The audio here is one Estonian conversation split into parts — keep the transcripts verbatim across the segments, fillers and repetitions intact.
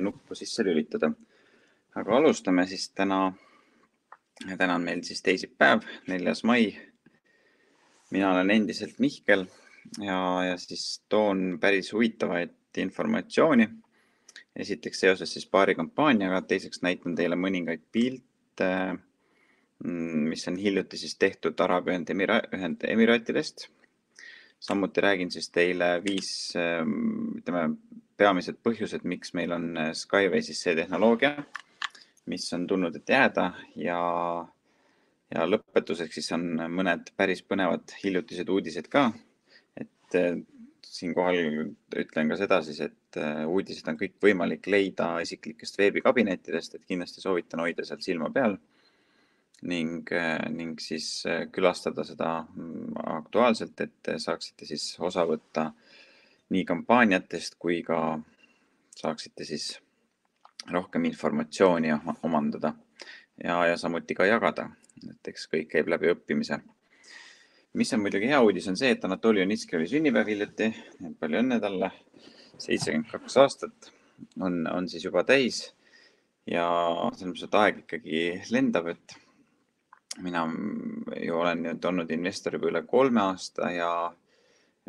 nuppu sisse lülitada. Aga alustame siis täna. Täna on meil siis teisipäev, neljas mai. Mina olen endiselt Mihkel ja, ja siis toon päris huvitavaid informatsiooni. Esiteks seoses siis paari kampaaniaga, teiseks näitan teile mõningaid pilte, mis on hiljuti siis tehtud Araabia Ühendemiraatidest. Samuti räägin siis teile viis ütleme, peamised põhjused, miks meil on Skyway siis see tehnoloogia, mis on tulnud, et jääda ja, ja lõpetuseks siis on mõned päris põnevad hiljutised uudised ka. Et siinkohal ütlen ka seda siis, et uudised on kõik võimalik leida isiklikest veebikabinettidest, et kindlasti soovitan hoida seal silma peal ning, ning siis külastada seda aktuaalselt, et saaksite siis osa võtta nii kampaaniatest kui ka saaksite siis rohkem informatsiooni omandada ja, ja samuti ka jagada, et eks kõik käib läbi õppimise. Mis on muidugi hea uudis on see, et Anatoli Junitski oli sünnipäev hiljuti, palju õnne talle, seitsekümmend kaks aastat on, on siis juba täis ja selles mõttes, et aeg ikkagi lendab, et mina ju olen nüüd olnud investor juba üle kolme aasta ja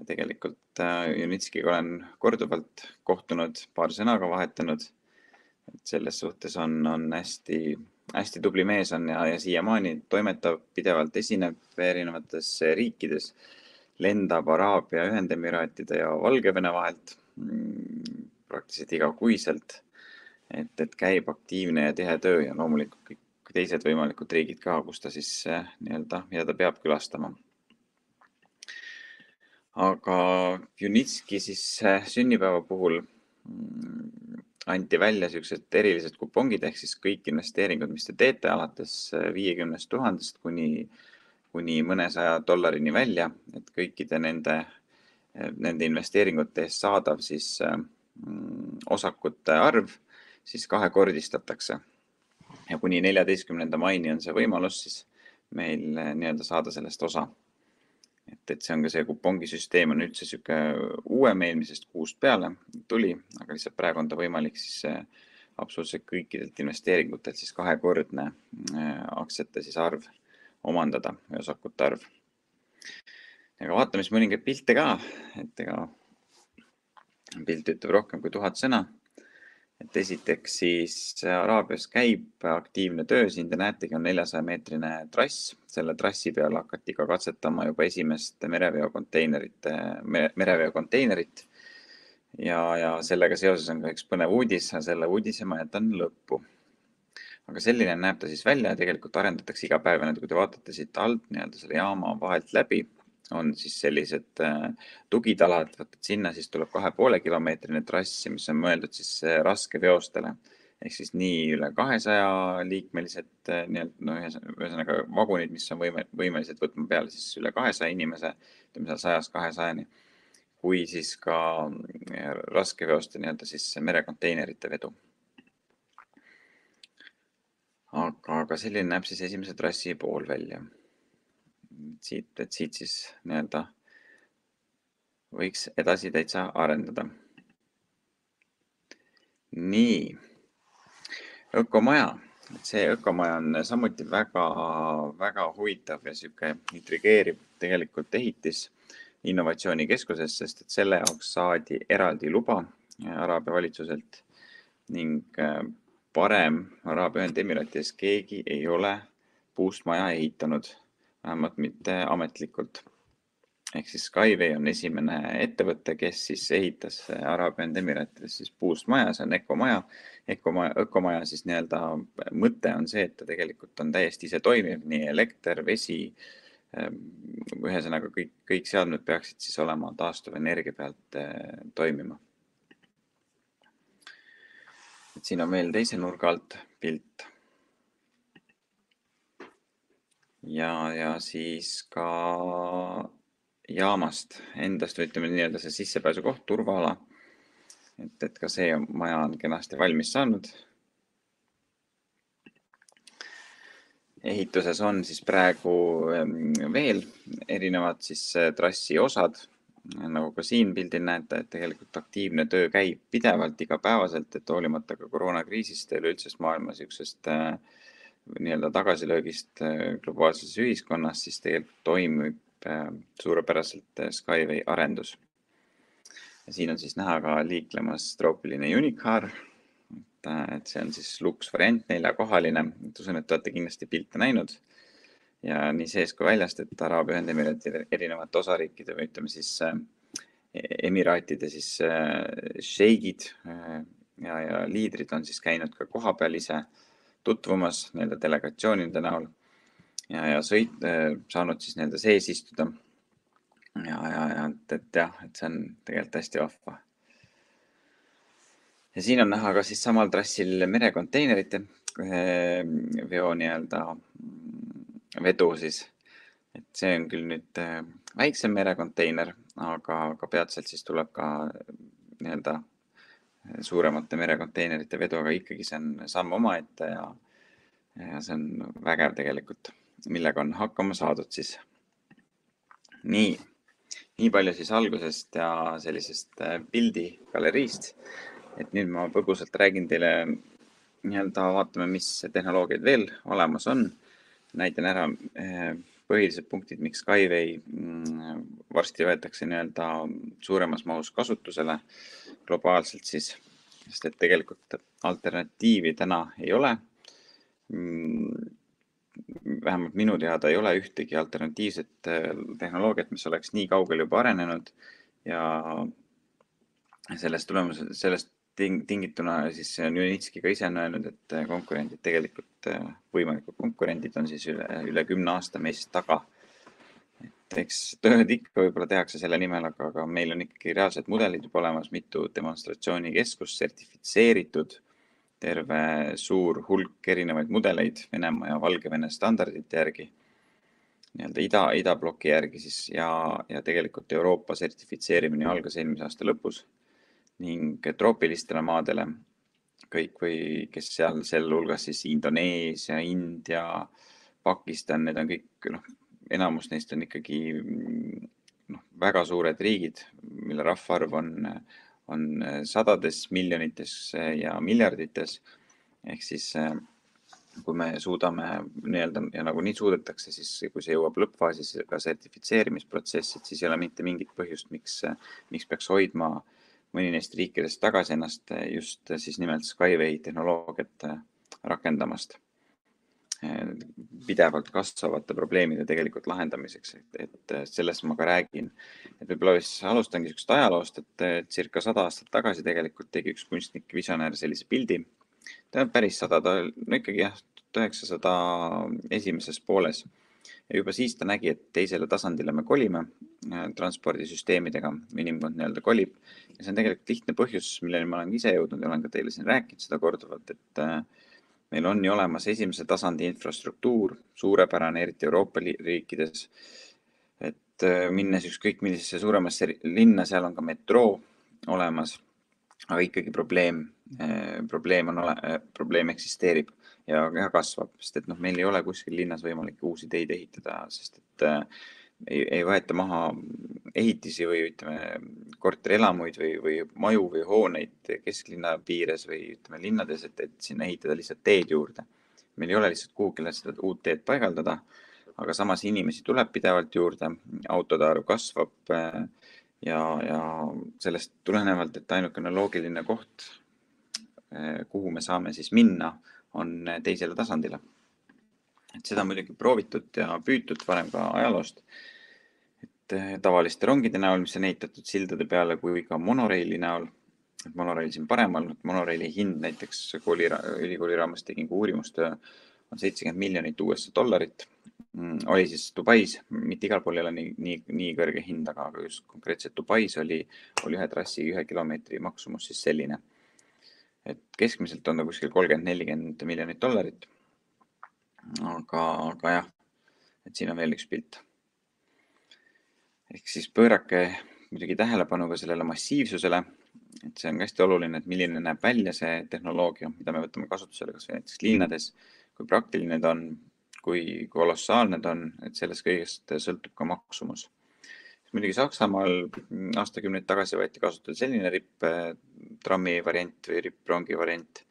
tegelikult Junitskiga olen korduvalt kohtunud, paar sõnaga vahetanud. Et selles suhtes on, on hästi, hästi tubli mees on ja, ja siiamaani toimetab pidevalt esineb erinevates riikides, lendab Araabia Ühendemiraatide ja Valgevene vahelt praktiliselt igakuiselt, et, et käib aktiivne ja tihe töö ja loomulikult kõik teised võimalikud riigid ka, kus ta siis nii-öelda, mida ta peab külastama. Aga Junitski siis sünnipäeva puhul anti välja sellised erilised kupongid ehk siis kõik investeeringud, mis te teete alates viiekümnest tuhandest kuni, kuni mõnesaja dollarini välja, et kõikide nende, nende investeeringute eest saadav siis osakute arv siis kahekordistatakse. Ja kuni neljateistkümnenda maini on see võimalus siis meil nii-öelda saada sellest osa. Et, et see on ka see kupongisüsteem on üldse süke uuem eelmisest kuust peale tuli, aga lihtsalt praegu on ta võimalik siis absoluutselt kõikidelt investeeringutelt siis kahekordne aktsiate siis arv omandada või osakute arv. Aga vaatame siis mõningaid pilte ka, et ega pilt ütleb rohkem kui tuhat sõna. Et esiteks siis Araabias käib aktiivne töö, siin te näetegi on neljasaja meetrine trass. Selle trassi peal hakati ka katsetama juba esimest mereveokonteinerit, mereveokonteinerit ja, ja sellega seoses on ka üks põnev uudis, selle uudise ma jätan lõppu. Aga selline näeb ta siis välja ja tegelikult arendatakse iga päev, kui te vaatate siit alt nii-öelda selle jaama vahelt läbi, on siis sellised tugitalad, võtad sinna, siis tuleb kahe poole kilomeetrine trassi, mis on mõeldud siis raske veostele. Ehk siis nii üle kahesaja liikmelised, no ühesõnaga vagunid, mis on võimelised võtma peale siis üle kahesaja inimese, ütleme seal sajast kahesajani, kui siis ka raske veoste nii-öelda siis merekonteinerite vedu. Aga, aga selline näeb siis esimese trassi pool välja. Siit, et siit siis nii-öelda võiks edasi täitsa arendada. Nii, ökomaja. See ökomaja on samuti väga, väga huvitav ja süke intrigeerib tegelikult ehitis innovatsioonikeskuses, sest et selle jaoks saadi eraldi luba Araabia valitsuselt ning parem Araabia Ühendemiraatides keegi ei ole puust maja ehitanud. Vähemalt mitte ametlikult. Ehk siis Skyway on esimene ettevõte, kes siis ehitas Araabia Ühendemiraatides siis puust maja, see on ökomaja. Ökomaja, ökomaja siis nii-öelda mõte on see, et ta tegelikult on täiesti ise toimiv, nii elekter, vesi, ühesõnaga kõik, kõik seadmed peaksid siis olema taastuvenergia pealt toimima. Et siin on veel teise nurga alt pilt. Ja, ja siis ka jaamast endast, või ütleme nii-öelda see sissepääsu koht, turvaala. Et, et ka see maja on kenasti valmis saanud. Ehituses on siis praegu veel erinevad siis trassi osad. nagu ka siin pildil näete, et tegelikult aktiivne töö käib pidevalt igapäevaselt, et hoolimata ka koroonakriisist ja üleüldsest maailma siuksest äh, nii-öelda tagasilöögist äh, globaalses ühiskonnas, siis tegelikult toimib äh, suurepäraselt äh, Skyway arendus. Ja siin on siis näha ka liiklemas troopiline unicorn, et, et see on siis luks variant, neljakohaline, et usun, et olete kindlasti pilte näinud. Ja nii sees kui väljast, et Araabia Ühendemiraatide erinevate osariikide või ütleme siis äh, emiraatide siis äh, šeigid äh, ja, ja liidrid on siis käinud ka kohapeal ise tutvumas nii-öelda delegatsioonide näol ja, ja sõit, äh, saanud siis nii-öelda sees istuda. Ja, ja, ja et, et jah, et see on tegelikult hästi vahva. Ja siin on näha ka siis samal trassil merekonteinerite veo nii-öelda vedu siis. Et see on küll nüüd väiksem merekonteiner, aga, aga peatselt siis tuleb ka nii-öelda suuremate merekonteinerite vedu, aga ikkagi see on samm omaette ja, ja see on vägev tegelikult, millega on hakkama saadud siis. Nii, nii palju siis algusest ja sellisest pildigaleriist. Et nüüd ma põgusalt räägin teile, nii-öelda vaatame, mis tehnoloogiad veel olemas on. Näitan ära põhilised punktid, miks Skyway varsti võetakse nii-öelda suuremas mahus kasutusele globaalselt siis, sest et tegelikult alternatiivi täna ei ole. Vähemalt minu teada ei ole ühtegi alternatiivset tehnoloogiat, mis oleks nii kaugel juba arenenud ja sellest tulemus, sellest tingituna siis Junitski ka ise on öelnud, et konkurendid tegelikult, võimalikud konkurendid on siis üle, üle kümne aasta meist taga. Et eks tööd ikka võib-olla tehakse selle nimel, aga, aga meil on ikkagi reaalsed mudelid juba olemas, mitu demonstratsioonikeskus, sertifitseeritud, terve suur hulk erinevaid mudeleid Venemaa ja Valgevene standardite järgi, nii-öelda ida, idabloki järgi siis ja, ja tegelikult Euroopa sertifitseerimine algas eelmise aasta lõpus ning troopilistele maadele kõik või kes seal selle hulgas siis Indoneesia, India, Pakistan, need on kõik, noh, enamus neist on ikkagi noh, väga suured riigid, mille rahvaarv on on sadades miljonites ja miljardites. Ehk siis, kui me suudame nii-öelda ja nagu nii suudetakse, siis kui see jõuab lõppfaasis ka sertifitseerimisprotsessid, siis ei ole mitte mingit põhjust, miks, miks peaks hoidma mõni neist riikidest tagasi ennast just siis nimelt Skyway tehnoloogiat rakendamast pidevalt kasvavate probleemide tegelikult lahendamiseks, et, et sellest ma ka räägin. Et võib-olla alustangi sellist ajaloost, et circa sada aastat tagasi tegelikult tegi üks kunstnik visionäär sellise pildi. Ta on päris sada, ta no ikkagi jah, tuhat üheksasada esimeses pooles. Ja juba siis ta nägi, et teisele tasandile me kolime transpordisüsteemidega, inimkond nii-öelda kolib. Ja see on tegelikult lihtne põhjus, milleni ma olen ise jõudnud ja olen ka teile siin rääkinud seda korduvalt, et meil on ju olemas esimese tasandi infrastruktuur, suurepärane, eriti Euroopa riikides, et minnes ükskõik millisesse suuremasse linna, seal on ka metroo olemas, aga ikkagi probleem, probleem, on ole, probleem eksisteerib ja, ja kasvab, sest et noh, meil ei ole kuskil linnas võimalik uusi teid ehitada, sest et ei, ei võeta maha ehitisi või ütleme korterelamuid või, või maju või hooneid kesklinna piires või ütleme linnades, et, et sinna ehitada lihtsalt teed juurde. Meil ei ole lihtsalt kuhugile seda uut teed paigaldada, aga samas inimesi tuleb pidevalt juurde, autode arv kasvab ja, ja sellest tulenevalt, et ainukene loogiline koht, kuhu me saame siis minna, on teisele tasandile. Et seda muidugi proovitud ja püütud varem ka ajaloost, et tavaliste rongide näol, mis on ehitatud sildade peale, kui ka monoreili näol, et monoreil siin paremal, monoreili hind näiteks kooli, ülikooli raames tegin uurimustöö on seitsekümmend miljonit U S A dollarit, oli siis Dubais, mitte igal pool ei ole nii, nii, nii kõrge hind, aga just konkreetselt Dubais oli, oli ühe trassi ühe kilomeetri maksumus siis selline, et keskmiselt on ta kuskil kolmkümmend nelikümmend miljonit dollarit. Aga, aga jah, et siin on veel üks pilt. Ehk siis pöörake muidugi tähelepanu ka sellele massiivsusele, et see on hästi oluline, et milline näeb välja see tehnoloogia, mida me võtame kasutusele kas või näiteks linnades, kui praktiline ta on, kui kolossaalne ta on, et sellest kõigest sõltub ka maksumus. Muidugi Saksamaal aastakümneid tagasi võeti kasutada selline ripp trammi variant või ripprongi variant,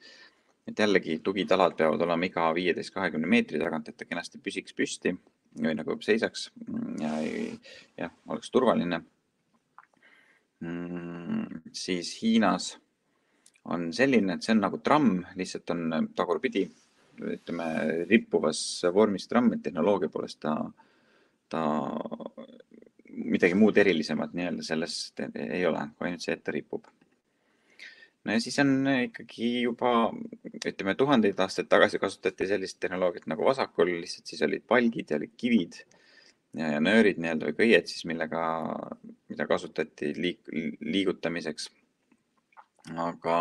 et jällegi tugitalad peavad olema iga viieteist kahekümne meetri tagant, et ta kenasti püsiks püsti või nagu seisaks ja, ja oleks turvaline. Siis Hiinas on selline, et see on nagu tramm, lihtsalt on tagurpidi, ütleme, rippuvas vormis tramm, et tehnoloogia poolest ta, ta midagi muud erilisemat nii-öelda sellest ei ole, kui ainult see, et ta ripub. No ja siis on ikkagi juba, ütleme, tuhandeid aastaid tagasi kasutati sellist tehnoloogiat nagu vasakul, lihtsalt siis olid palgid ja olid kivid ja, ja nöörid nii-öelda või kõied siis, millega, mida kasutati liik, liigutamiseks. Aga,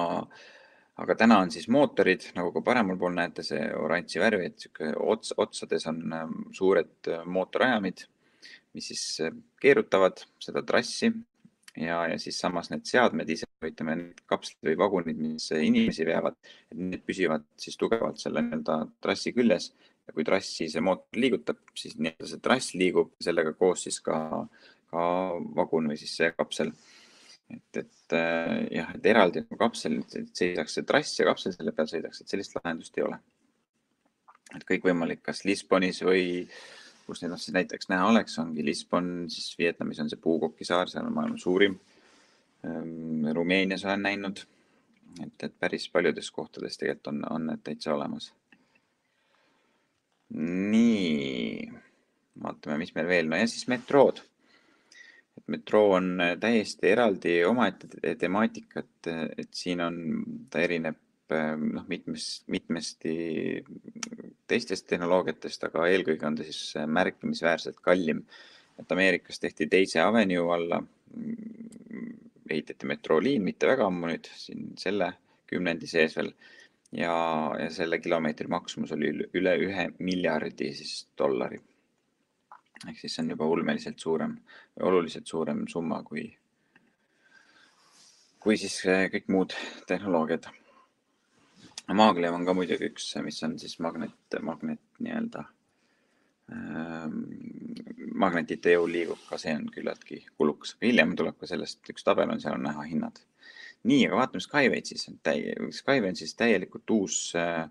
aga täna on siis mootorid, nagu ka paremal pool näete see oranži värvi, et ots, otsades on suured mootorajamid, mis siis keerutavad seda trassi ja, ja siis samas need seadmed ise, ütleme, need kapslid või vagunid, mis inimesi veavad, et need püsivad siis tugevalt selle nii-öelda trassi küljes ja kui trassi see mootor liigutab, siis nii-öelda see trass liigub sellega koos siis ka, ka vagun või siis see kapsel. Et, et jah, et eraldi kapsel seisaks see trass ja kapsel selle peal sõidaks, et sellist lahendust ei ole. Et kõik võimalik, kas Lisbonis või kus neid siis näiteks näha oleks, ongi Lisbon, siis Vietnamis on see Puukoki saar, seal on maailma suurim. Rumeenias olen näinud, et, et päris paljudes kohtades tegelikult on, on need täitsa olemas. Nii, vaatame, mis meil veel, no ja siis metrood. Et metroo on täiesti eraldi omaette temaatikat, et siin on, ta erineb noh, mitmest, mitmesti teistest tehnoloogiatest, aga eelkõige on ta siis märkimisväärselt kallim. Et Ameerikas tehti teise Avenue alla, ehitati metrooliin, mitte väga ammu nüüd, siin selle kümnendi sees veel, ja, ja selle kilomeetri maksumus oli üle ühe miljardi siis dollari. Ehk siis see on juba ulmeliselt suurem või oluliselt suurem summa kui, kui siis kõik muud tehnoloogiad. Maaglev on ka muidugi üks, mis on siis magnet, magnet nii-öelda ähm, magnetite jõul liigub, ka see on küllaltki kulukas. Hiljem tuleb ka sellest üks tabel on, seal on näha hinnad. Nii, aga vaatame Skyway siis. Skyway on siis täielikult uus äh,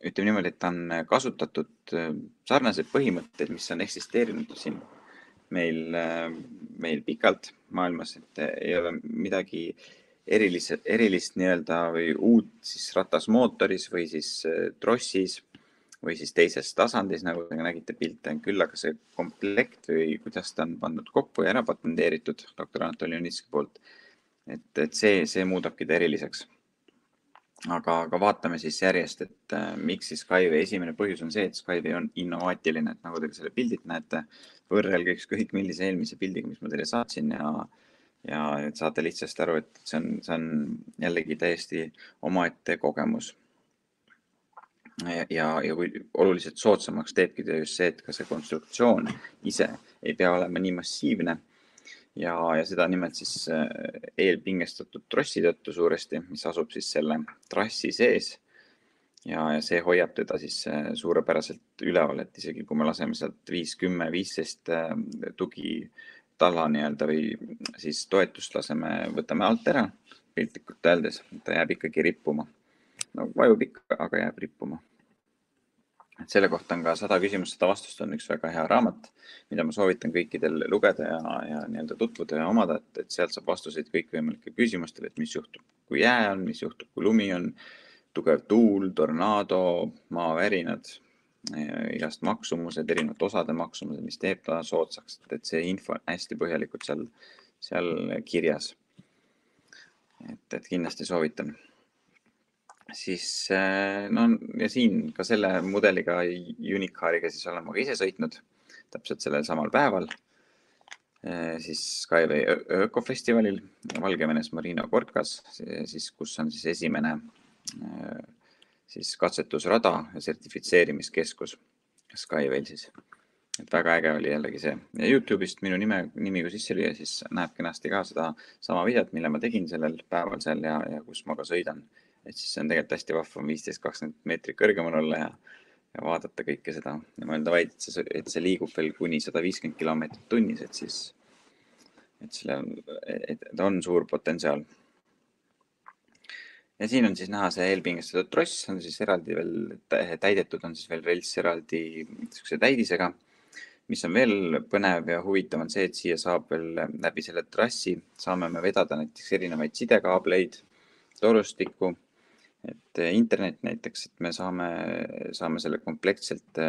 ütleme niimoodi, et ta on kasutatud sarnased põhimõtted, mis on eksisteerinud siin meil, meil pikalt maailmas, et ei ole midagi erilist, erilist nii-öelda või uut siis ratasmootoris või siis trossis või siis teises tasandis, nagu te nägite pilte, küll aga see komplekt või kuidas ta on pandud kokku ja ära patenteeritud doktor Anatoli Unitski poolt, et, et see, see muudabki ta eriliseks. Aga, aga vaatame siis järjest, et äh, miks siis Skyway esimene põhjus on see, et Skyway on innovaatiline, et nagu te selle pildit näete, võrrelge ükskõik millise eelmise pildiga, mis ma teile saatsin ja, ja et saate lihtsasti aru, et see on, see on jällegi täiesti omaette kogemus. Ja, ja, ja kui oluliselt soodsamaks teebki just see, et ka see konstruktsioon ise ei pea olema nii massiivne. Ja, ja seda nimelt siis eelpingestatud trossi tõttu suuresti, mis asub siis selle trassi sees ja, ja see hoiab teda siis suurepäraselt üleval, et isegi kui me laseme sealt viis, kümme, viisteist tugi talla nii-öelda või siis toetust laseme, võtame alt ära piltlikult öeldes, ta jääb ikkagi rippuma. No vajub ikka, aga jääb rippuma. Et selle kohta on ka sada küsimust, sada vastust on üks väga hea raamat, mida ma soovitan kõikidel lugeda ja, ja nii-öelda tutvuda ja omada, et, et sealt saab vastuseid kõikvõimalike küsimustele, et mis juhtub, kui jää on, mis juhtub, kui lumi on, tugev tuul, tornaado, maavärinad, igast maksumused, erinevate osade maksumused, mis teeb ta soodsaks, et see info on hästi põhjalikult seal, seal kirjas. Et, et kindlasti soovitan. Siis no ja siin ka selle mudeliga Unicaariga siis olen ma ka ise sõitnud täpselt sellel samal päeval siis Skyway ökofestivalil Valgevenes Marina Gorkas, siis kus on siis esimene siis katsetusrada ja sertifitseerimiskeskus Skywayl siis. Et väga äge oli jällegi see. Ja YouTube'ist minu nime, nimi kui sisse lüüa, siis näeb kenasti ka seda sama videot, mille ma tegin sellel päeval seal ja, ja kus ma ka sõidan. Et siis see on tegelikult hästi vahva viisteist kakskümmend meetrit kõrgemal olla ja, ja vaadata kõike seda. Ja ma enda vaid, et see, et see liigub veel kuni sada viiskümmend kilomeetrit tunnis, et siis et selle on, et ta on suur potentsiaal. Ja siin on siis näha see eelpingestatud tross, on siis eraldi veel täidetud, on siis veel relts eraldi niisuguse täidisega. Mis on veel põnev ja huvitav on see, et siia saab veel läbi selle trassi, saame me vedada näiteks erinevaid sidekaableid, torustikku, et internet näiteks, et me saame, saame selle komplektselt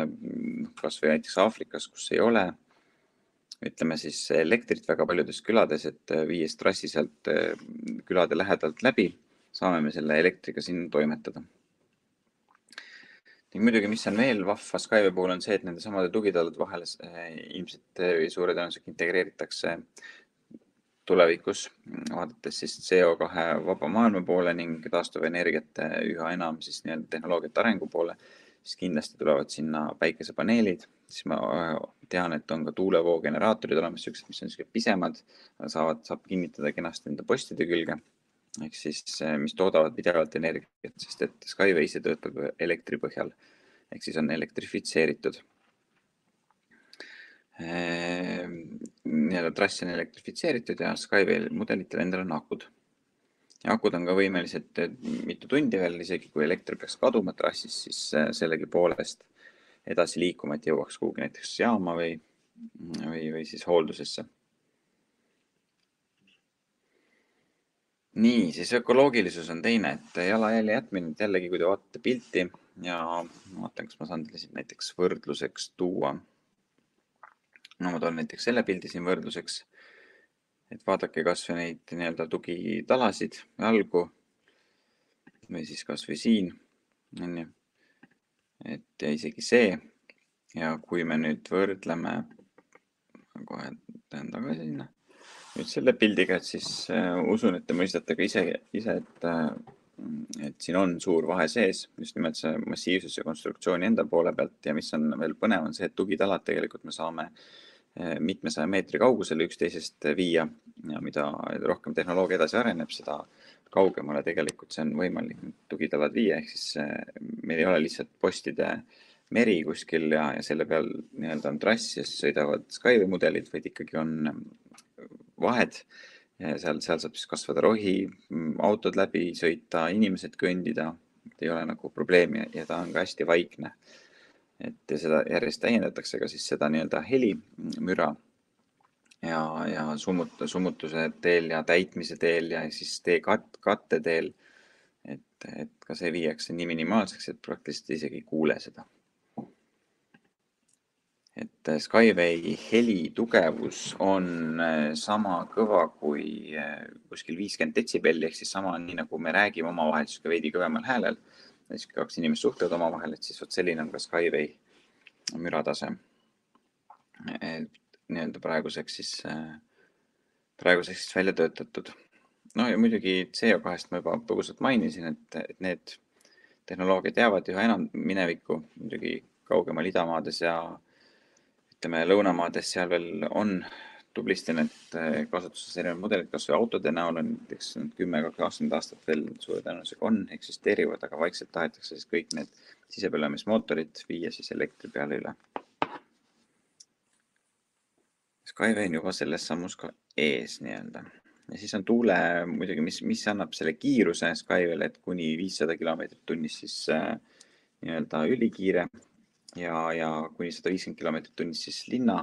kas või näiteks Aafrikas, kus ei ole, ütleme siis elektrit väga paljudes külades, et viies trassi sealt külade lähedalt läbi, saame me selle elektriga sinna toimetada. Ning muidugi, mis on veel vahva Skyway puhul on see, et nende samade tugitalade vahel ilmselt suure tõenäosusega integreeritakse tulevikus, vaadates siis C O kahe vaba maailma poole ning taastuvenergiate üha enam siis nii-öelda tehnoloogiate arengu poole, siis kindlasti tulevad sinna päikesepaneelid. Siis ma tean, et on ka tuulevoogeneraatorid olemas, sellised, mis on sellised pisemad, saavad, saab kinnitada kenasti enda postide külge, ehk siis mis toodavad pidevalt energiat, sest et Skyway ise töötab elektri põhjal, ehk siis on elektrifitseeritud. Nii-öelda trass on elektrifitseeritud ja Skyway mudelitel endal on akud. Ja akud on ka võimelised mitu tundi veel, isegi kui elektri peaks kaduma trassis, siis sellegi poolest edasi liikuma, et jõuaks kuhugi näiteks jaama või, või, või siis hooldusesse. Nii, siis ökoloogilisus on teine, et jalajälje jätmine, jällegi kui te vaatate pilti ja vaatan, kas ma saan teile siin näiteks võrdluseks tuua. No ma toon näiteks selle pildi siin võrdluseks, et vaadake kas või neid nii-öelda tugitalasid jalgu või siis kas või siin, on ju, et isegi see. Ja kui me nüüd võrdleme, kohe teen tagasi sinna. Nüüd selle pildiga, et siis äh, usun, et te mõistate ka ise, ise et, äh, et siin on suur vahe sees, just nimelt see massiivsus ja konstruktsiooni enda poole pealt. Ja mis on veel põnev, on see, et tugitalad tegelikult me saame äh, mitmesaja meetri kaugusele üksteisest viia ja mida rohkem tehnoloogia edasi areneb, seda kaugemale tegelikult see on võimalik tugitalad viia. Ehk siis äh, meil ei ole lihtsalt postide meri kuskil ja, ja selle peal nii-öelda on trass ja siis sõidavad Skyway mudelid, vaid ikkagi on vahed. Ja seal, seal saab siis kasvada rohi, autod läbi sõita, inimesed kõndida, ei ole nagu probleemi ja ta on ka hästi vaikne. Et seda järjest täiendatakse ka siis seda nii-öelda helimüra ja, ja summut, summutuse teel ja täitmise teel ja siis tee kat, katte teel. Et, et ka see viiakse nii minimaalseks, et praktiliselt isegi ei kuule seda. Et Skyway heli tugevus on sama kõva kui kuskil viiskümmend detsibelli, ehk siis sama nii nagu me räägime omavahel, siis ka veidi kõvemal häälel. Siis kaks inimest suhtlevad omavahel, et siis oot selline on ka Skyway müratase. Nii-öelda praeguseks siis, praeguseks siis välja töötatud. No ja muidugi C O kahest ma juba põgusalt mainisin, et, et need tehnoloogiad jäävad üha enam minevikku, muidugi kaugemal idamaades ja ütleme, lõunamaades seal veel on tublisti need kasutuses erinevad mudelid, kas või autode näol on näiteks kümme kakskümmend aastat veel suure tõenäosusega on, eksisteerivad, aga vaikselt tahetakse siis kõik need sisepõlemismootorid viia siis elektri peale üle. Skyway on juba selles sammus ka ees nii-öelda. Ja siis on tuule muidugi, mis, mis annab selle kiiruse Skyway'le, et kuni viissada kilomeetrit tunnis siis äh, nii-öelda ülikiire. Ja, ja kuni sada viiskümmend kilomeetrit tunnis siis linna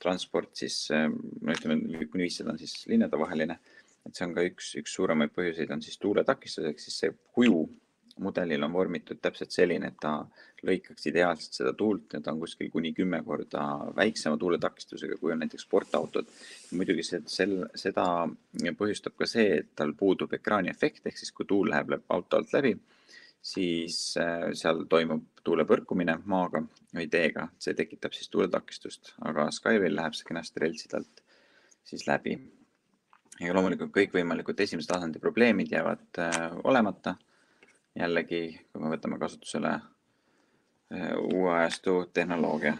transport, siis no ütleme, kuni viissada on siis linnade vaheline. Et see on ka üks, üks suuremaid põhjuseid on siis tuuletakistuseks, siis see kuju mudelil on vormitud täpselt selline, et ta lõikaks ideaalselt seda tuult ja ta on kuskil kuni kümme korda väiksema tuuletakistusega, kui on näiteks sportautod. Muidugi see, sel, seda põhjustab ka see, et tal puudub ekraani efekt, ehk siis kui tuul läheb auto alt läbi, siis seal toimub tuule põrkumine maaga või teega, see tekitab siis tuuletakistust, aga Skyway'l läheb see kenasti reltsidelt siis läbi. Ja loomulikult kõikvõimalikud esimese tasandi probleemid jäävad olemata. Jällegi, kui me võtame kasutusele uue ajastu tehnoloogia,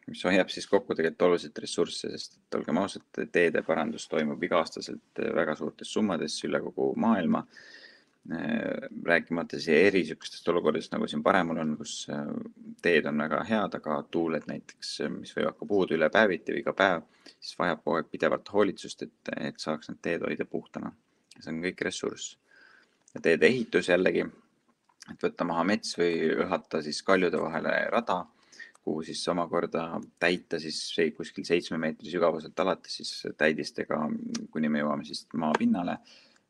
mis hoiab siis kokku tegelikult oluliselt ressursse, sest et olgem ausad, teede parandus toimub iga-aastaselt väga suurtes summades üle kogu maailma. rääkimata siia erisükestest olukordadest, nagu siin paremal on, kus teed on väga head, aga tuuled näiteks, mis võivad ka puudu üle päeviti või iga päev, siis vajab kogu aeg pidevalt hoolitsust, et, et saaks need teed hoida puhtana. See on kõik ressurss. Ja teede ehitus jällegi, et võtta maha mets või õhata siis kaljude vahele rada, kuhu siis omakorda täita siis kuskil seitsme meetri sügavuselt alates siis täidistega, kuni me jõuame siis maa pinnale.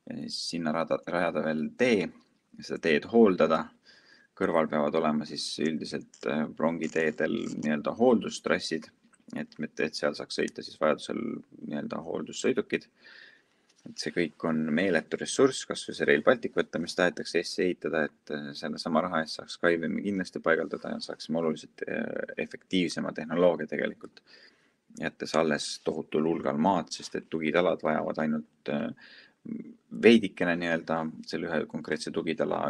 Ja siis sinna rada, rajada veel tee, seda teed hooldada. Kõrval peavad olema siis üldiselt rongiteedel nii-öelda hooldustrassid, et, et seal saaks sõita siis vajadusel nii-öelda hooldussõidukid. Et see kõik on meeletu ressurss, kas või see Rail Baltic võtta, mis tahetakse Eestisse ehitada, et selle sama raha eest saaks Skyway'i kindlasti paigaldada ja saaksime oluliselt efektiivsema tehnoloogia tegelikult. Jättes alles tohutul hulgal maad, sest et tugitalad vajavad ainult veidikene nii-öelda selle ühe konkreetse tugitala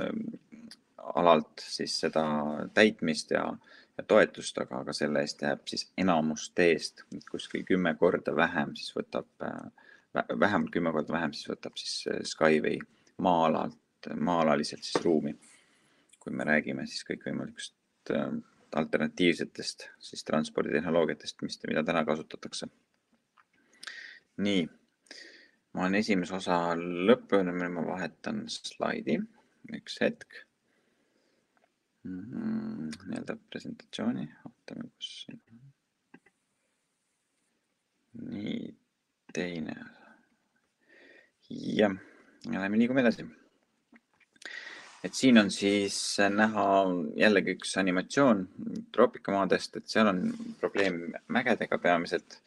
alalt siis seda täitmist ja, ja toetust, aga, aga selle eest jääb siis enamus teest, kuskil kümme korda vähem, siis võtab, vähemalt kümme korda vähem, siis võtab siis Skyway maa-alalt, maa-alaliselt siis ruumi. Kui me räägime siis kõikvõimalikust alternatiivsetest siis transporditehnoloogiatest, mis, mida täna kasutatakse. Nii. Ma olen esimese osa lõppenud, ma vahetan slaidi, üks hetk. Mm-hmm. Nii-öelda presentatsiooni, ootame, kus siin. Nii, teine. Ja, ja lähme liigume edasi. Et siin on siis näha jällegi üks animatsioon troopikamaadest, et seal on probleem mägedega peamiselt.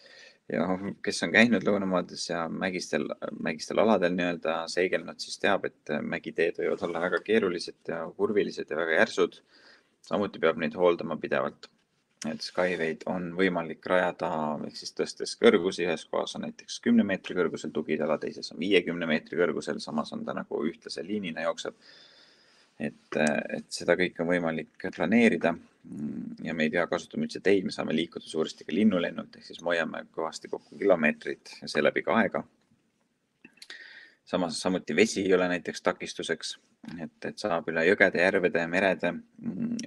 Ja kes on käinud lõunamaades ja mägistel, mägistel aladel nii-öelda seigelnud, siis teab, et mägiteed võivad olla väga keerulised ja kurvilised ja väga järsud. Samuti peab neid hooldama pidevalt. Et Skyway'd on võimalik rajada, ehk siis tõstes kõrgusi, ühes kohas on näiteks kümne meetri kõrgusel tugitala, teises on viiekümne meetri kõrgusel, samas on ta nagu ühtlase liinina jookseb. Et, et seda kõik on võimalik planeerida ja me ei pea kasutama üldse teid, me saame liikuda suuresti ka linnulennult, ehk siis hoiame kõvasti kokku kilomeetrid ja seeläbi ka aega. Samas samuti vesi ei ole näiteks takistuseks, et, et saab üle jõgede, järvede, merede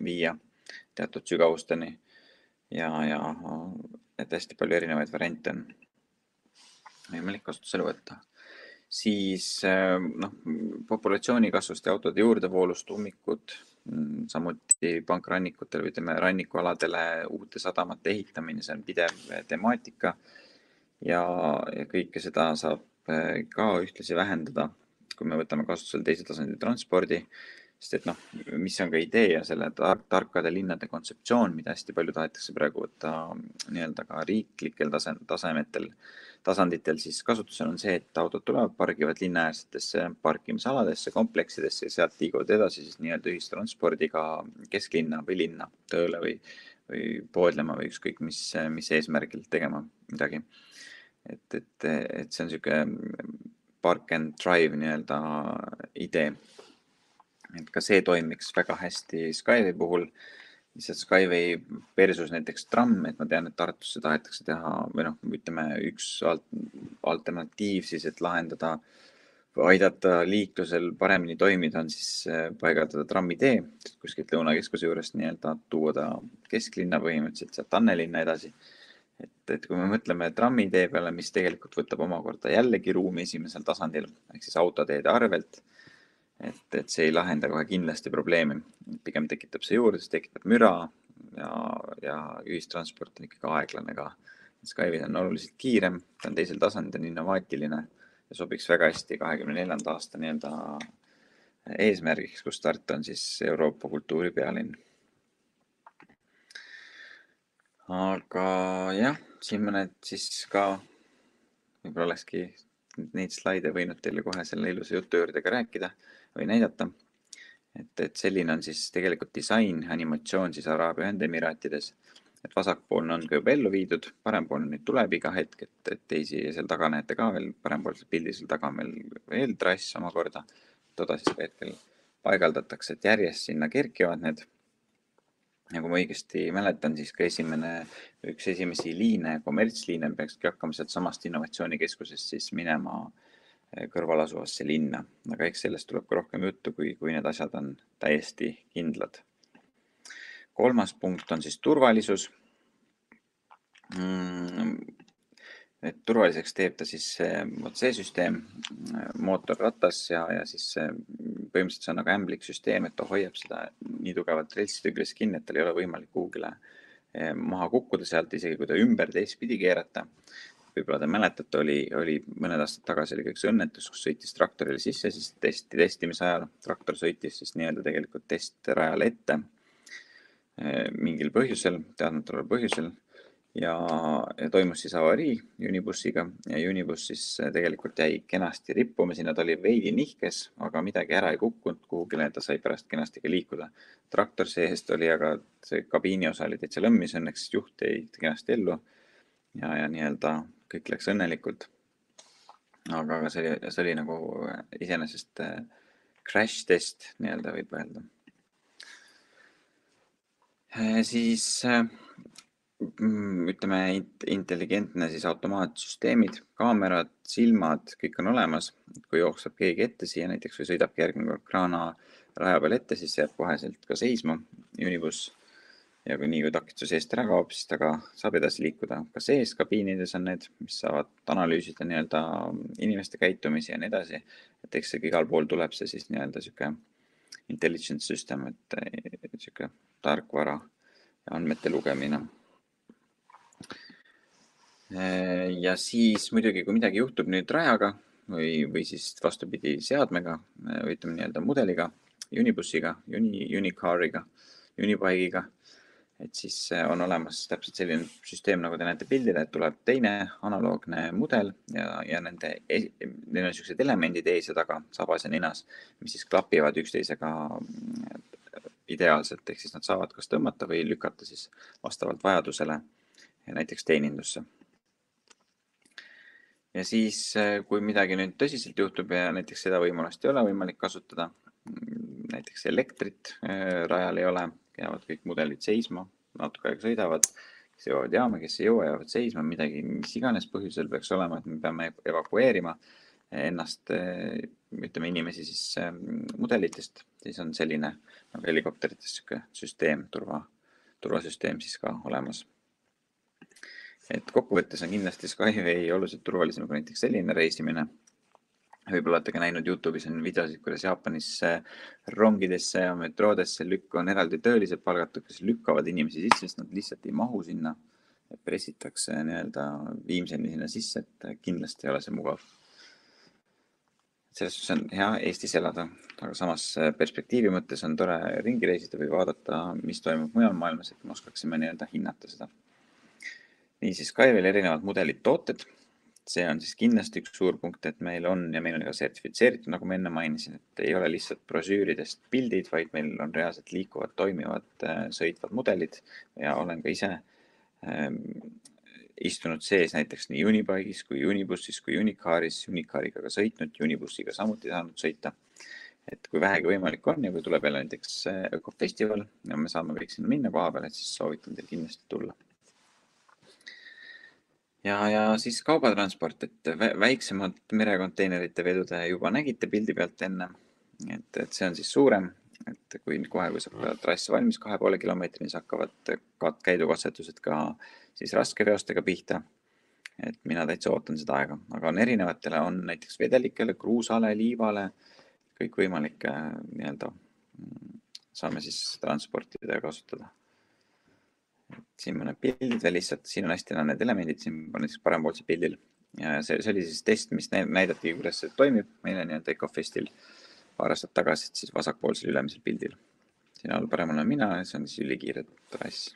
viia teatud sügavusteni ja, ja et hästi palju erinevaid variante on võimalik kasutusele võtta. Siis noh, populatsiooni kasvust ja autode juurdevoolust ummikud, samuti pankrannikutel või teeme rannikualadele uute sadamate ehitamine, see on pidev temaatika ja, ja kõike seda saab ka ühtlasi vähendada, kui me võtame kasutusele teise tasandi transpordi, sest et noh, mis on ka idee ja selle tar tarkade linnade kontseptsioon, mida hästi palju tahetakse praegu võtta nii-öelda ka riiklikel tasemetel, tasanditel, siis kasutusel on see, et autod tulevad, pargivad linnaäärsetesse parkimisaladesse, kompleksidesse ja sealt liiguvad edasi siis nii-öelda ühistranspordiga kesklinna või linna tööle või, või poodlema või ükskõik mis, mis eesmärgil tegema midagi. Et, et, et see on niisugune park and drive nii-öelda idee. Et ka see toimiks väga hästi Skyway puhul. Lihtsalt Skyway versus näiteks tramm, et ma tean, et Tartusse tahetakse teha, või noh, ütleme üks alternatiiv siis, et lahendada või aidata liiklusel paremini toimida, on siis paigaldada trammitee, kuskilt Lõunakeskuse juurest nii-öelda tuua ta kesklinna põhimõtteliselt, sealt Annelinna edasi. Et, et kui me mõtleme trammitee peale, mis tegelikult võtab omakorda jällegi ruumi esimesel tasandil, ehk siis autoteede arvelt, et, et see ei lahenda kohe kindlasti probleemi. Pigem tekitab see juurde, see tekitab müra ja, ja ühistransport on ikkagi aeglane ka. Skyway on oluliselt kiirem, ta on teisel tasandil innovaatiline ja sobiks väga hästi kahekümne neljanda aasta nii-öelda eesmärgiks, kus start on siis Euroopa kultuuri pealinn. Aga jah, siin mõned siis ka, võib-olla olekski neid slaide võinud teile kohe selle ilusa jutu juurde ka rääkida või näidata. Et, et selline on siis tegelikult disain, animatsioon siis Araabia Ühendemiraatides. Et vasakpoolne on ka juba ellu viidud, parempoolne nüüd tuleb iga hetk, et, et teisi seal taga näete ka veel, parempoolsel pildil seal taga meil veel trass omakorda. Toda siis ka hetkel paigaldatakse, et järjest sinna kerkivad need. Ja kui ma õigesti mäletan, siis ka esimene, üks esimesi liine, kommertsliine peakski hakkama sealt samast innovatsioonikeskusest siis minema kõrval asuvasse linna. Aga eks sellest tuleb ka rohkem juttu, kui, kui need asjad on täiesti kindlad. Kolmas punkt on siis turvalisus. Et turvaliseks teeb ta siis see süsteem, mootorratas ja, ja siis põhimõtteliselt see on nagu ämblik süsteem, et ta hoiab seda nii tugevalt reltside küljes kinni, et tal ei ole võimalik kuhugile maha kukkuda sealt, isegi kui ta ümber teistpidi keerata. Võib-olla te mäletate, oli, oli mõned aastad tagasi oli üks õnnetus, kus sõitis traktorile sisse, siis testi, testimise ajal traktor sõitis siis nii-öelda tegelikult testrajale ette mingil põhjusel, teadmataval põhjusel. Ja, ja toimus siis avarii Unibussiga ja Unibus siis tegelikult jäi kenasti rippuma, sinna ta oli veidi nihkes, aga midagi ära ei kukkunud kuhugile, ta sai pärast kenasti ka liikuda. Traktor seest oli, aga see kabiini osa oli täitsa lõmmis, õnneks juht jäi kenasti ellu ja, ja nii-öelda kõik läks õnnelikult. Aga see oli, see oli nagu iseenesest crash test, nii-öelda võib öelda. Siis ütleme intelligentne siis automaatsüsteemid, kaamerad, silmad, kõik on olemas. Kui jookseb keegi ette siia näiteks või sõidabki järgmine kraana raja peal ette, siis jääb koheselt ka seisma Unibus. Ja kui nii kui takistuse eest ära kaob, siis ta ka saab edasi liikuda. Ka sees kabiinides on need, mis saavad analüüsida nii-öelda inimeste käitumisi ja nii edasi. Et eks see igal pool tuleb see siis nii-öelda siuke intelligence system, et siuke tarkvara ja andmete lugemine. Ja siis muidugi, kui midagi juhtub nüüd rajaga või, või siis vastupidi seadmega, või ütleme nii-öelda mudeliga, Unibussiga, Uni, Unicariga, Unibike'iga, et siis on olemas täpselt selline süsteem, nagu te näete pildile, et tuleb teine analoogne mudel ja, ja nende, neil on sellised elemendid ees ja taga, sabas ja ninas, mis siis klapivad üksteisega ideaalselt, ehk siis nad saavad kas tõmmata või lükata siis vastavalt vajadusele ja näiteks teenindusse. Ja siis, kui midagi nüüd tõsiselt juhtub ja näiteks seda võimalust ei ole võimalik kasutada, näiteks elektrit rajal ei ole, jäävad kõik mudelid seisma, natuke aega sõidavad, kes jõuavad jaama, kes ei jõua, jäävad seisma, midagi, mis iganes põhjusel peaks olema, et me peame evakueerima ennast, ütleme inimesi siis mudelitest, siis on selline nagu helikopterites süsteem, turva, turvasüsteem siis ka olemas. Et kokkuvõttes on kindlasti Skyway oluliselt turvalisem kui näiteks selline reisimine. Võib-olla olete ka näinud YouTube'is on videosid, kuidas Jaapanis rongidesse ja metroodesse lükku on eraldi töölised palgatud, kes lükkavad inimesi sisse, sest nad lihtsalt ei mahu sinna. Pressitakse nii-öelda viimseni sinna sisse, et kindlasti ei ole see mugav. Selles on hea Eestis elada, aga samas perspektiivi mõttes on tore ringi reisida või vaadata, mis toimub mujal maailmas, et me oskaksime nii-öelda hinnata seda. Nii siis Skyway'l erinevad mudelid tooted. See on siis kindlasti üks suur punkt, et meil on ja meil on ka sertifitseeritud, nagu ma enne mainisin, et ei ole lihtsalt brosüüridest pildid, vaid meil on reaalselt liikuvad, toimivad, sõitvad mudelid ja olen ka ise ähm, istunud sees näiteks nii Unibike'is kui Unibussis kui Unicaris, Unicariga ka sõitnud, Unibussiga samuti saanud sõita. Et kui vähegi võimalik on ja kui tuleb jälle näiteks ökofestival ja me saame kõik sinna minna koha peal, et siis soovitan teil kindlasti tulla. Ja, ja siis kaubatransport, et väiksemad merekonteinerite vedude juba nägite pildi pealt enne, et, et see on siis suurem, et kui kohe, kui saab trass valmis kahe poole kilomeetrini, siis hakkavad käidukatsetused ka siis raskeveostega pihta, et mina täitsa ootan seda aega, aga on erinevatele, on näiteks vedelikele, kruusale, liivale, kõik võimalike nii-öelda saame siis transportida ja kasutada. Siin mõned pildid veel lihtsalt, siin on hästi need elemendid, siin on näiteks parempoolse pildil ja see, see oli siis test, mis näidati, kuidas see toimib meile nii-öelda EcoFestil paar aastat tagasi, et siis vasakpoolsel ülemisel pildil. Siin all paremal on mina ja see on siis ülikiire trass.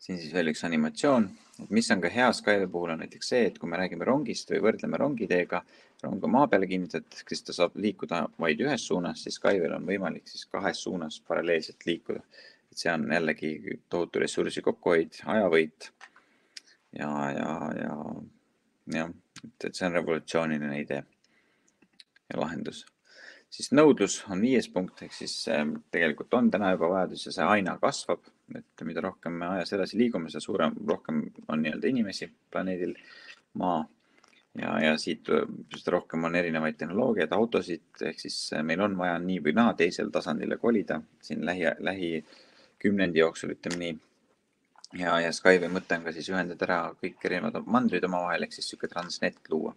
Siin siis veel üks animatsioon, et mis on ka hea Skyway puhul on näiteks see, et kui me räägime rongist või võrdleme rongiteega, rong on maa peale kinnitatud, siis ta saab liikuda vaid ühes suunas, siis Skyway'l on võimalik siis kahes suunas paralleelselt liikuda. Et see on jällegi tohutu ressursi kokkuhoid, ajavõit ja, ja, ja, ja et see on revolutsiooniline idee ja lahendus. Siis nõudlus on viies punkt, ehk siis tegelikult on täna juba vajadus ja see aina kasvab, et mida rohkem me ajas edasi liigume, see suurem, rohkem on nii-öelda inimesi planeedil maa ja, ja siit seda rohkem on erinevaid tehnoloogiaid, autosid, ehk siis meil on vaja nii või naa teisel tasandile kolida siin lähi, lähi kümnendi jooksul, ütleme nii. Ja, ja Skyway mõte on ka siis ühendada ära kõik erinevad mandrid omavahel, ehk siis siuke transnet luua.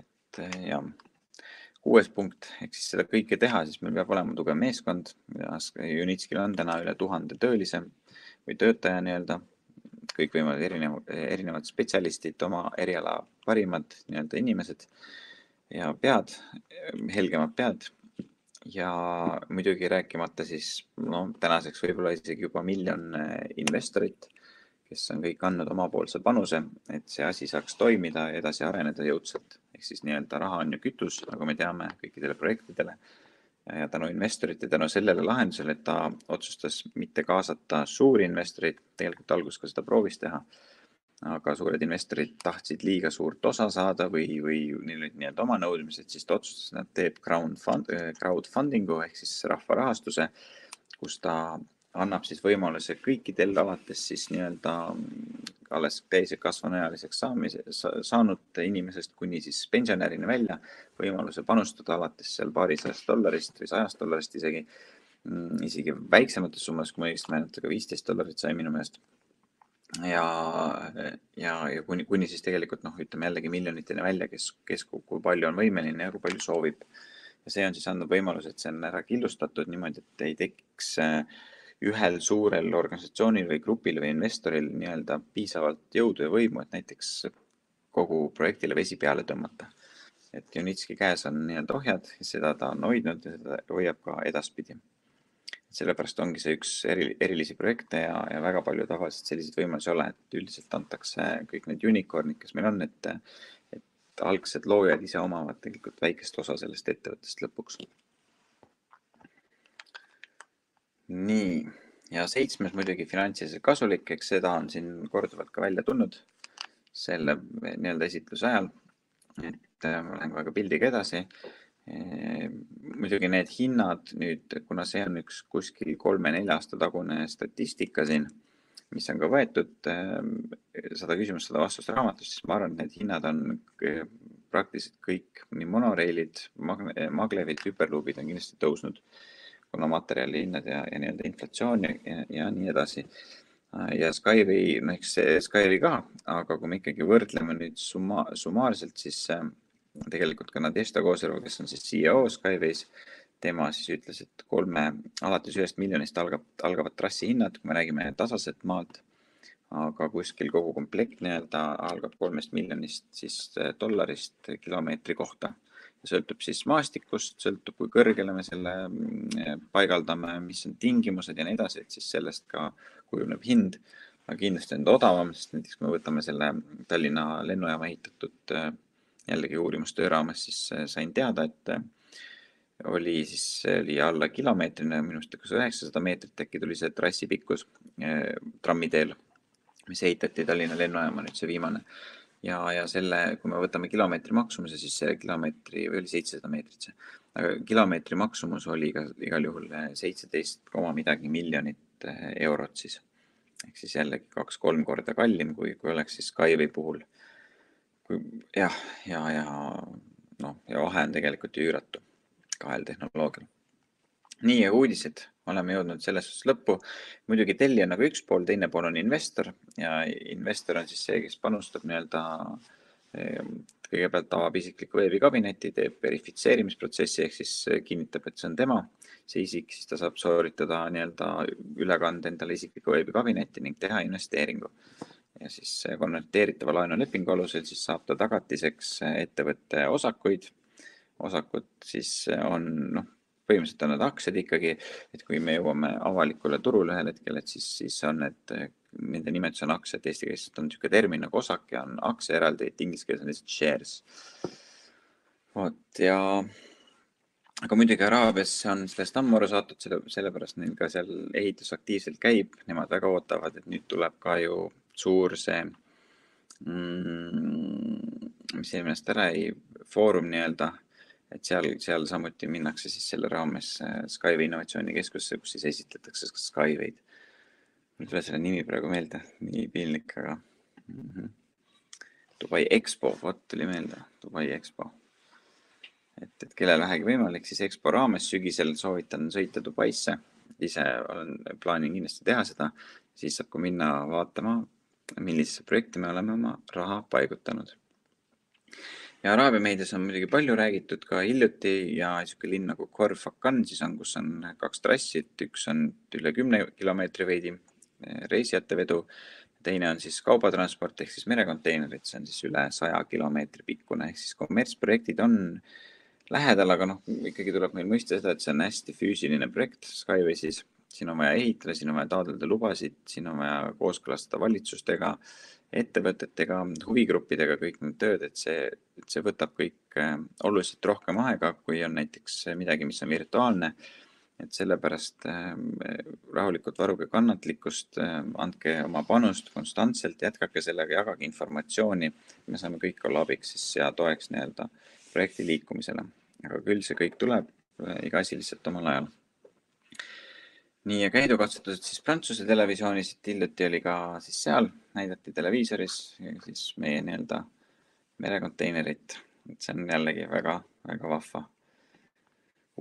Et ja kuues punkt, ehk siis seda kõike teha, siis meil peab olema tugev meeskond. Unitskil on täna üle tuhande töölise või töötaja nii-öelda. Kõik võimavad erinevad, erinevad spetsialistid, oma eriala parimad nii-öelda inimesed ja pead, helgemad pead. Ja muidugi rääkimata siis no, tänaseks võib-olla isegi juba miljon investorit, kes on kõik andnud omapoolse panuse, et see asi saaks toimida ja edasi areneda jõudsalt. Ehk siis nii-öelda raha on ju kütus, nagu me teame kõikidele projektidele. Ja tänu investorite, tänu sellele lahendusele, et ta otsustas mitte kaasata suuri investoreid, tegelikult algus ka seda proovis teha, aga suured investorid tahtsid liiga suurt osa saada või, või neil olid nii-öelda oma nõudmised, siis ta otsustas, et nad teeb crowdfundingu ehk siis rahvarahastuse, kus ta annab siis võimaluse kõikidel alates siis nii-öelda alles täise kasvanuealiseks saamise, saanud inimesest kuni siis pensionärini välja võimaluse panustada alates seal paarisajast dollarist või sajast dollarist isegi, isegi väiksemates summas, kui ma õigesti mäletan, ka viisteist dollarit sai minu meelest. Ja, ja, ja kuni, kuni siis tegelikult noh, ütleme jällegi miljoniteni välja, kes, kes kui palju on võimeline ja kui palju soovib. Ja see on siis andnud võimalus, et see on ära killustatud niimoodi, et ei tekiks ühel suurel organisatsioonil või grupil või investoril nii-öelda piisavalt jõudu ja võimu, et näiteks kogu projektile vesi peale tõmmata. Et Unitski käes on nii-öelda ohjad ja seda ta on hoidnud ja seda hoiab ka edaspidi. Sellepärast ongi see üks eri, erilisi projekte ja, ja väga palju tavaliselt selliseid võimalusi ole, et üldiselt antakse kõik need unicornid, kes meil on, et, et algsed loojad ise omavad tegelikult väikest osa sellest ettevõttest lõpuks. Nii, ja seitsmes muidugi finantsiliselt kasulik, eks seda on siin korduvalt ka välja tulnud selle nii-öelda esitluse ajal, et ma lähen kohe ka pildiga edasi. Muidugi need hinnad nüüd, kuna see on üks kuskil kolme-nelja aasta tagune statistika siin, mis on ka võetud sada küsimust, sada vastust raamatust, siis ma arvan, et need hinnad on praktiliselt kõik, nii monoreilid, maglevid, hüperluubid on kindlasti tõusnud, kuna materjali hinnad ja, ja nii-öelda inflatsioon ja, ja, ja nii edasi. Ja Skyway, no eks see Skyway ka, aga kui me ikkagi võrdleme nüüd summa, summaarselt, siis tegelikult ka Nadezhda Kozerova, kes on siis C E O Skyways, tema siis ütles, et kolme, alates ühest miljonist algab, algavad trassi hinnad, kui me räägime tasaselt maalt, aga kuskil kogu komplekt nii-öelda algab kolmest miljonist siis dollarist kilomeetri kohta. Ja sõltub siis maastikust, sõltub kui kõrgele me selle paigaldame, mis on tingimused ja nii edasi, et siis sellest ka kujuneb hind. Aga kindlasti on odavam, sest näiteks kui me võtame selle Tallinna lennujaama ehitatud jällegi uurimustöö raames, siis sain teada, et oli siis oli alla kilomeetrine, minust kas üheksasada meetrit äkki tuli see trassi pikkus trammiteel, mis ehitati Tallinna lennujaama, nüüd see viimane. Ja, ja selle, kui me võtame kilomeetri maksumuse, siis see kilomeetri või oli seitsesada meetrit see, aga kilomeetri maksumus oli ka igal juhul seitseteist koma midagi miljonit eurot siis. Ehk siis jällegi kaks-kolm korda kallim, kui, kui oleks siis Skyway puhul. Kui, jah, ja, ja, no, ja vahe on tegelikult ju üüratu kahel tehnoloogial. Nii, ja uudised. Oleme jõudnud selles suhtes lõppu. Muidugi telli on nagu üks pool, teine pool on investor ja investor on siis see, kes panustab nii-öelda kõigepealt avab isikliku veebikabineti, teeb verifitseerimisprotsessi, ehk siis kinnitab, et see on tema. See isik, siis ta saab sooritada nii-öelda ülekande endale isikliku veebikabinetti ning teha investeeringu. Ja siis konverteeritava laenulepingu alusel siis saab ta tagatiseks ettevõtte osakuid. Osakud siis on, noh, põhimõtteliselt on need aktsiad ikkagi, et kui me jõuame avalikule turule ühel hetkel, et siis, siis on need, nende nimetus on aktsiad, eesti keeles on niisugune termin nagu osak ja on aktsia eraldi, et inglise keeles on lihtsalt shares. Vot, ja aga muidugi Araabias on sellest ammu aru saadud, selle, sellepärast neil ka seal ehitus aktiivselt käib, nemad väga ootavad, et nüüd tuleb ka ju suur see, mm, mis eelmest ära ei, foorum nii-öelda, et seal, seal samuti minnakse siis selle raames Skyway innovatsioonikeskusse, kus siis esitletakse Skyway'd. Mul tule selle nimi praegu meelde, nii piinlik, aga mm -hmm. Dubai Expo, vot tuli meelde, Dubai Expo. Et, et kellel vähegi võimalik, siis Expo raames sügisel soovitan sõita Dubaisse. Ise olen plaanin kindlasti teha seda, siis saab ka minna vaatama, millisesse projekti me oleme oma raha paigutanud. Ja Araabia meedias on muidugi palju räägitud ka hiljuti ja niisugune linn nagu Khor Fakkan siis on, kus on kaks trassi, üks on üle kümne kilomeetri veidi reisijate vedu, teine on siis kaubatransport ehk siis merekonteinerid, see on siis üle saja kilomeetri pikkune ehk siis kommertsprojektid on lähedal, aga noh, ikkagi tuleb meil mõista seda, et see on hästi füüsiline projekt Skyways. Siin on vaja ehitada, siin on vaja taotleda lubasid, siin on vaja kooskõlastada valitsustega, ettevõtetega, huvigruppidega kõik need tööd, et see, et see võtab kõik oluliselt rohkem aega, kui on näiteks midagi, mis on virtuaalne. Et sellepärast rahulikult varuge kannatlikkust, andke oma panust konstantselt, jätkake sellega, jagage informatsiooni. Me saame kõik olla abiks siis ja toeks nii-öelda projekti liikumisele. Aga küll see kõik tuleb iga asi lihtsalt omal ajal. Nii ja käidukatsetused siis Prantsuse televisioonis, hiljuti oli ka siis seal, näidati televiisoris ja siis meie nii-öelda merekonteinerit. Et see on jällegi väga, väga vahva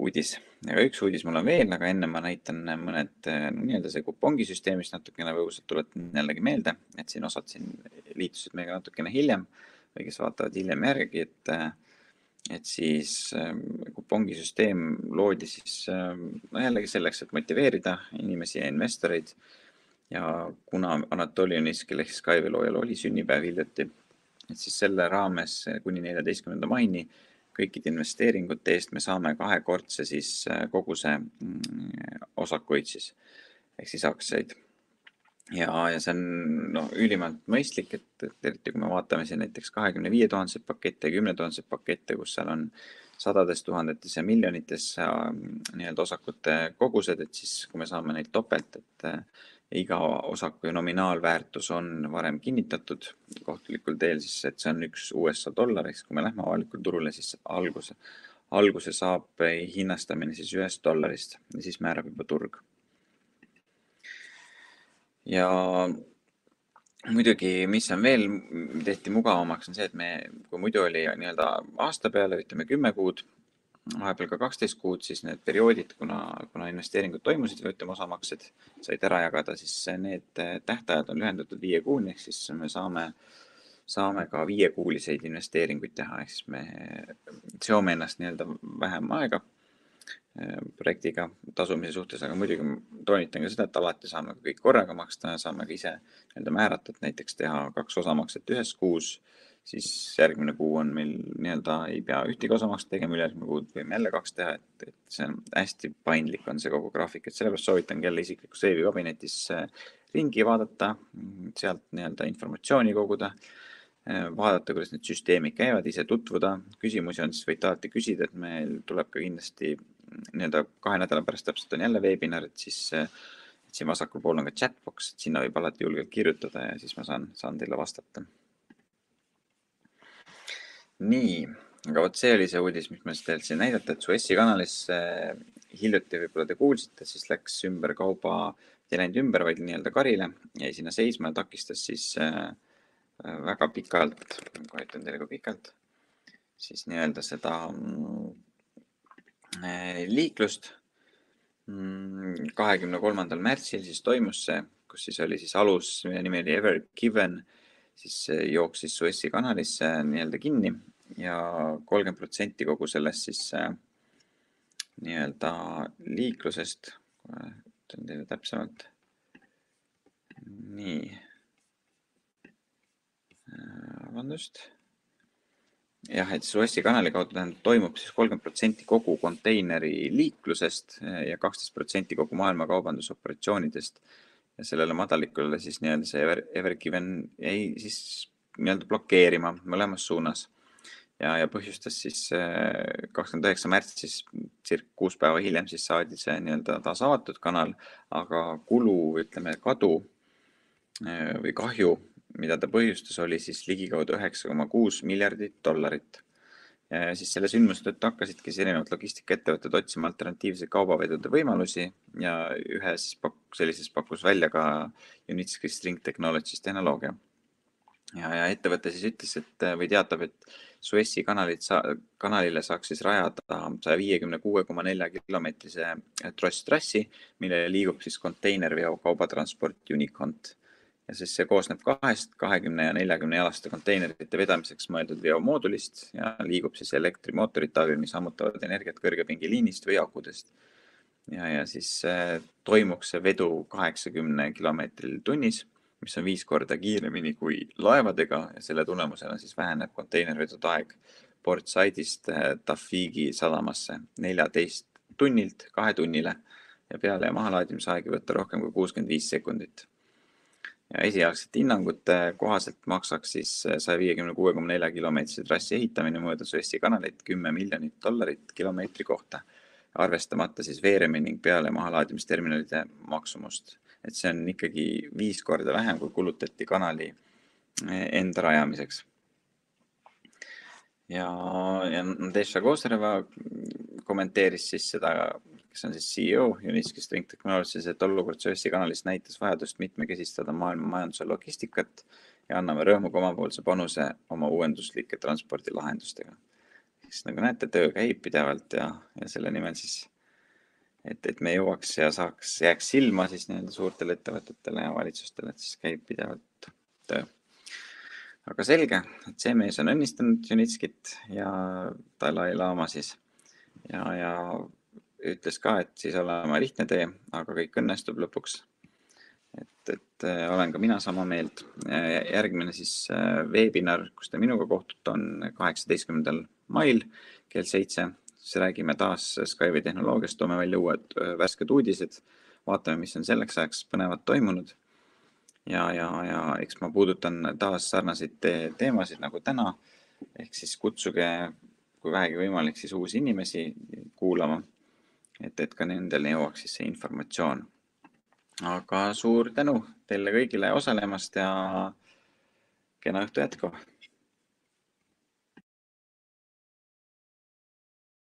uudis. Ja üks uudis mul on veel, aga enne ma näitan mõned nii-öelda see kupongisüsteemist natukene võusad tuletan jällegi meelde, et siin osad siin liitusid meiega natukene hiljem või kes vaatavad hiljem järgi, et et siis kupongisüsteem loodi siis no jällegi selleks, et motiveerida inimesi ja investoreid ja kuna Anatoli Uniskil ehk Skyway loojal oli sünnipäev hiljuti, et siis selle raames kuni neljateistkümnenda maini kõikide investeeringute eest me saame kahekordse siis koguse osakuid siis ehk siis aktsiaid. Ja, ja see on no, ülimalt mõistlik, et, et eriti kui me vaatame siin näiteks kahekümne viie tuhandeid pakette ja kümne tuhandeid pakette, kus seal on sadades tuhandetes ja miljonites nii-öelda osakute kogused, et siis kui me saame neid topelt, et iga osaku nominaalväärtus on varem kinnitatud kohtulikul teel, siis et see on üks U S A dollar, ehk kui me lähme avalikul turule, siis alguse, alguse saab hinnastamine siis ühest dollarist ja siis määrab juba turg. Ja muidugi, mis on veel tehti mugavamaks, on see, et me, kui muidu oli nii-öelda aasta peale, ütleme kümme kuud, vahepeal ka kaksteist kuud, siis need perioodid, kuna, kuna investeeringud toimusid või ütleme osamaksed said ära jagada, siis need tähtajad on lühendatud viie kuuni, ehk siis me saame, saame ka viiekuuliseid investeeringuid teha, ehk siis me seome ennast nii-öelda vähem aega projektiga tasumise suhtes, aga muidugi toonitan ka seda, et alati saame kõik korraga maksta ja saame ka ise nii-öelda määrata, et näiteks teha kaks osamakset ühes kuus, siis järgmine kuu on meil nii-öelda ei pea ühtegi osamakset tegema, ülejärgmine kuud võime jälle kaks teha, et, et see on hästi paindlik on see kogu graafik, et sellepärast soovitan jälle isiklikus veebikabinetis ringi vaadata, sealt nii-öelda informatsiooni koguda, vaadata, kuidas need süsteemid käivad, ise tutvuda, küsimusi on, siis võite alati küsida, et meil tuleb ka kindlasti nii-öelda kahe nädala pärast täpselt on jälle webinar, et siis et siin vasakul pool on ka chatbox, et sinna võib alati julgelt kirjutada ja siis ma saan, saan teile vastata. Nii, aga võt see oli see uudis, mis ma teil siin näidata, et Suessi kanalis hiljuti võib-olla te kuulsite, siis läks ümber kauba, ei läinud ümber, vaid nii-öelda karile, jäi sinna seisma ja takistas siis väga pikalt, kohe ütlen teile ka pikalt, siis nii-öelda seda liiklust. kahekümne kolmandal märtsil siis toimus see, kus siis oli siis alus, mille nimi oli Ever Given, siis jooksis Suessi kanalisse nii-öelda kinni ja kolmkümmend protsenti kogu sellest siis nii-öelda liiklusest, ütlen teile täpsemalt. Nii. Vabandust. Jah, et Suessi kanali kaudu toimub siis kolmkümmend protsenti kogu konteineri liiklusest ja kaksteist protsenti kogu maailma kaubandusoperatsioonidest. Ja sellele madalikule siis nii-öelda see Ever, Ever Given ei siis nii-öelda blokeerima mõlemas suunas. Ja, ja põhjustas siis kakskümmend üheksa märtsis, cirka kuus päeva hiljem, siis saadi see nii-öelda taas avatud kanal, aga kulu, ütleme, kadu või kahju, mida ta põhjustas, oli siis ligikaudu üheksa koma kuus miljardit dollarit. Ja siis selle sündmuse tõttu hakkasidki siis erinevad logistikaettevõtted otsima alternatiivseid kaubavedude võimalusi ja ühe siis pak- sellises pakkus välja ka Unitsky String Technologies tehnoloogia. ja, ja ettevõte siis ütles, et või teatab, et Suessi kanalit sa, kanalile saaks siis rajada saja viiekümne kuue koma nelja kilomeetrise trosstrassi, millele liigub siis konteinerveo kaubatransport Unicont. Ja siis see koosneb kahest kahekümne ja neljakümne jalaste konteinerite vedamiseks mõeldud veomoodulist ja liigub siis elektrimootorite abil, mis ammutavad energiat kõrgepingiliinist või akudest. Ja, ja siis äh, toimuks see vedu kaheksakümne kilomeetril tunnis, mis on viis korda kiiremini kui laevadega ja selle tulemusena siis väheneb konteinervedude aeg Port Saidist äh, Tafigi sadamasse neljateist tunnilt kahe tunnile ja peale ja mahalaadimise aeg võtta rohkem kui kuuskümmend viis sekundit. Ja esialgsete hinnangute kohaselt maksaks siis saja viiekümne kuue koma nelja kilomeetrise trassi ehitamine mööda Suessi kanalit kümme miljonit dollarit kilomeetri kohta, arvestamata siis veeremi ning peale mahalaadimisterminalide maksumust. Et see on ikkagi viis korda vähem, kui kulutati kanali enda rajamiseks. Ja, ja Nadezhda Kozareva kommenteeris siis seda, kes on siis C E O Unitski String Technologies, et olukord Suessi kanalist näitas vajadust mitmekesistada maailma majanduse logistikat ja anname rõõmuga omapoolse panuse oma uuenduslike transpordilahendustega. Siis nagu näete, töö käib pidevalt ja, ja selle nimel siis, et, et me jõuaks ja saaks, jääks silma siis nii-öelda suurtele ettevõtetele ja valitsustele, et siis käib pidevalt töö. Aga selge, et see mees on õnnistanud Unitskit ja Dalai Lama siis ja, ja ütles ka, et siis olema lihtne tee, aga kõik õnnestub lõpuks. Et, et olen ka mina sama meelt. Järgmine siis webinar, kus te minuga kohtute, on kaheksateistkümnendal mail kell seitse. Siis räägime taas Skyway tehnoloogiast, toome välja uued värsked uudised. Vaatame, mis on selleks ajaks põnevad toimunud. Ja, ja, ja eks ma puudutan taas sarnaseid te teemasid nagu täna. Ehk siis kutsuge, kui vähegi võimalik, siis uusi inimesi kuulama. Et, et ka nendel jõuaks siis see informatsioon. Aga suur tänu teile kõigile osalemast ja kena õhtu jätku!